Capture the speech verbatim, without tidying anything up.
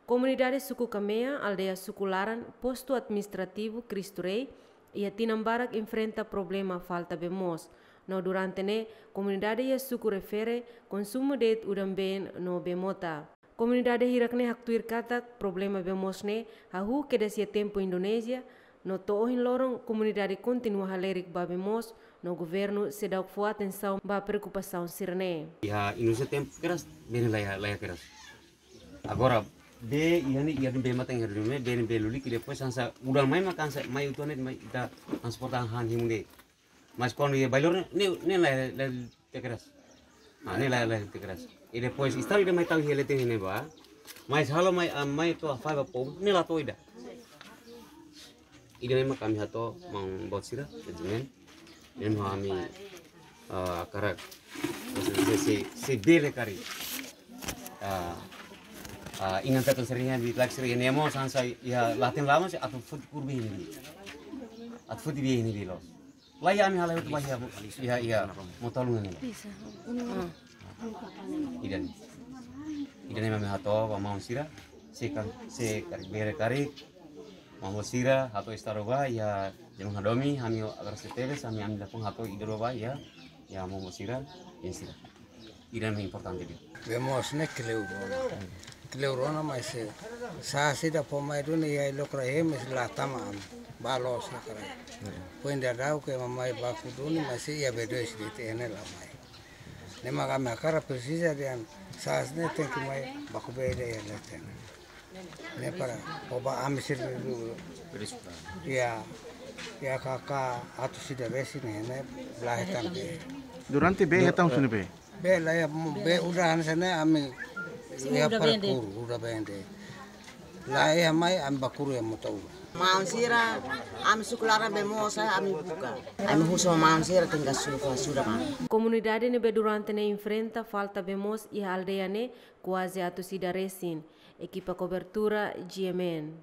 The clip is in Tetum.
Komunidade suku Kamea, aldeia Suku Laran, postu administrativu Cristo Rei, iha tinan barak enfrenta problema falta bee moos. No durante ne'e, komunidade iha suku refere konsumu de'it udan-been no bee mota. Komunidade hirak ne'e haktuir katak problema bee moos ne'e hahú kedas iha tempu Indonézia, no to'o ohin loron komunidade kontinua halerik ba bee moos, no governu seidauk fó atensaun ba preokupasaun sira-ne'e. Iha Indonézia tempu keras, bee ne'e laiha, laiha keras. Agora, bee, iha ne'e, iha ne'e bee matan, iha ne'e bee, ne'e bee lulik, depois hanesan udan mai mak hanesan, mai uitoan ne'e, mai ita transporta han himu ne'e. Mas kuandu iha bailor ne'e, ne'e, ne'e laiha, laiha tiha keras. Ah, ne'e laiha, laiha tiha keras. I depois, estadu ida mai tau iha leten ne'ebá. Mas halo mai, ah, mai to'o fai ba povu, ne'e la to'o ida. Ida-ne'e mak ami hato'o maun boot sira, sentimen. Ne'e mak ami, ah, hakarak. Se, se, se, se bele karik. Ah, ah, inan-feton sira-nia, di'ak sira-nia, ne'e mós hanesan iha latin lama se atu foti kuru bee ne'e. Atu foti bee ne'e loos. Laiha ami halai hotu ba iha, iha, iha Mota Ulun ne'e. Ida-ne'e. Ida-ne'e mak ami hato'o ba maun sira, se kan, se karik bele karik, maun sira hato'o estadu ba, iha Jemang Hadomi, ami agora se tebes, ami, ami lapang hato'o ida ba, iha, iha maun sira, iha sira. Ida-ne'e importante de'it. Bee moos ne'e kleur ona. Kleur ona mas se, sa'e ida fó mai duni iha lokra he mas la tama ami. Ba loos na karai. Foin daudauk ema mai baku duni mas se iha bee dois de'it ne'e la mai. Ne'e mak ami hakarak presiza dehan sa'e ne'e tenke mai baku bee ida iha leten. Ne'e para, oba ami sira dulu. Iha, iha kaka atus ida resin ne'e, ne'e la hetan bee. Durante bee hetan sunu bee? Bee laiha, bee udan hanesan ne'e ami, iha para kuru, udan bee de'it. Laiha mai ami ba kuru iha Mota Ulun. Maun sira, ami suku Laran bee moos, ami buka. Ami husu maun sira tenke sufa sudah, maun. Komunidade ne'ebé durante ne'e enfrenta falta bee moos iha aldeia ne'e kuaze atus ida resin. Ekipa kobertura, G M N.